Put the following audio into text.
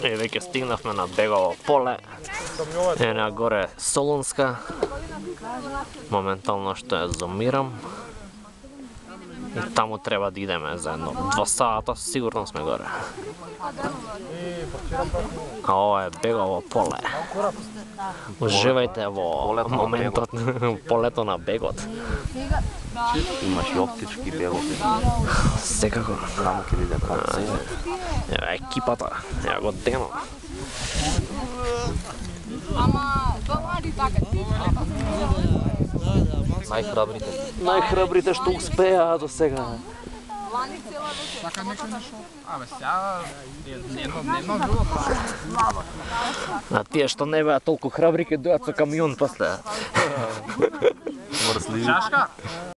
Веќе стигнавме на Бегово поле. На горе Солунска. Моментално што ја зумирам. И таму треба да идеме за едно 2 сата, сигурно сме горе. А ова е Бегово поле. Уживајте во моментот, полето на бегот. Имаш и оптички бегови. Секако. Само ќе виде како. Ева екипата, ева го Дено. Ама, домари така ти. Најхрабрите што успеа до сега. Лани цела вечер. Така нешто нешто. Абе, сега дневно живот. А тие што не беа толку храбри ќе дојат со камион после. Мрзливи. Чашка?